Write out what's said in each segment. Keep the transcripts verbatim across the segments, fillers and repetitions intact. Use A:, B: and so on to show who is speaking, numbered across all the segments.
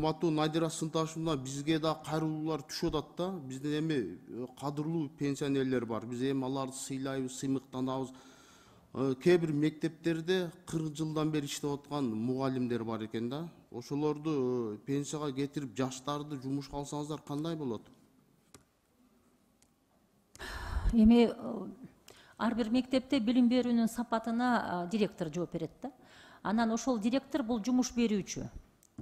A: урматтуу Надира Сынташевна, бизге да кайрылуулар түшүп атат да. Биздин эми кадырлуу пенсионерлер бар. Биз эми аларды сыйлайбыз, сыймыктанабыз. Кээ бир мектептерде кырк жылдан бери иштеп аткан мугалимдер бар экен да. Ошолорду пенсияга кетирип, жаштарды жумушка алсаңыздар кандай болот?
B: Эми ар бир мектепте билим берүүнүн сапатына директор жооп берет да. Анан ошол директор бул жумуш берүүчү.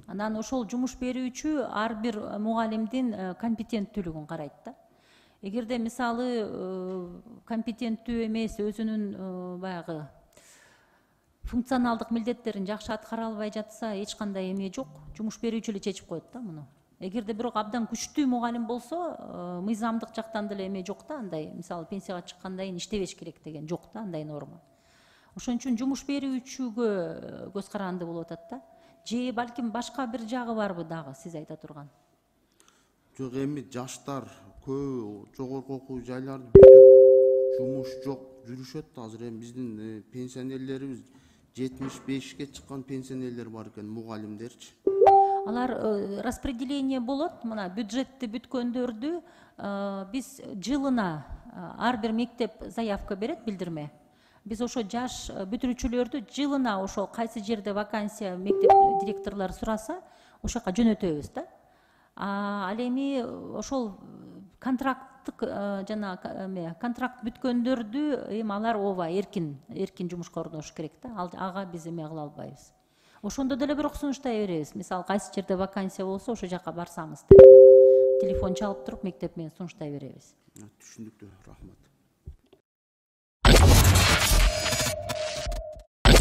B: Анан ошол жумуш берүүчү ар бир мугалимдин компетенттүүлүгүн карайт да. Эгерде мисалы компетенттүү эмес, өзүнүн баягы функционалдык милдеттерин жакшы аткара албай жатса, эч кандай эме жок. Жумуш берүүчү эле чечип коет да муну. Эгерде бирок абдан күчтүү мугалим болсо, мыйзамдык жактан деле эме жок да, андай, мисалы пенсияга чыккандан кийин иштебеш керек деген жок да, андай норма. Ошон үчүн жумуш берүүчүгө көз каранды болуп атат да. Же балким башка бир жагы барбы дагы сиз айта турган?
A: Жок, эми жаштар көбү жогорку окуу жайларды бүтүп жумуш жок жүрүшөт да. Азыр эми биздин пенсионерлерибиз жетимиш бешке чыккан пенсионерлер бар экен, мугалимдерчи.
B: Алар распределение болот. Мына бюджетти бүткөндөрдү биз жылына ар бир мектеп заявка берет, билдирме. Биз ошо жаш бүтүрүүчүлөрдү жылына ошо кайсы жерде вакансия мектеп директорлору сураса, ошол жака жөнөтөбүз да. Ал эми ошол контракттык жана контракт бүткөндөрдү эми алар ооба эркин эркин жумушка орношуш керек да. Ага биз эме кыла албайбыз. Ошондо деле бирок сунуштай беребиз. Мисалы кайсы жерде вакансия болсо, ошол жака барсаңыз деп телефон чалып туруп мектеп менен сунуштай беребиз.
A: Түшүндүктү, рахмат.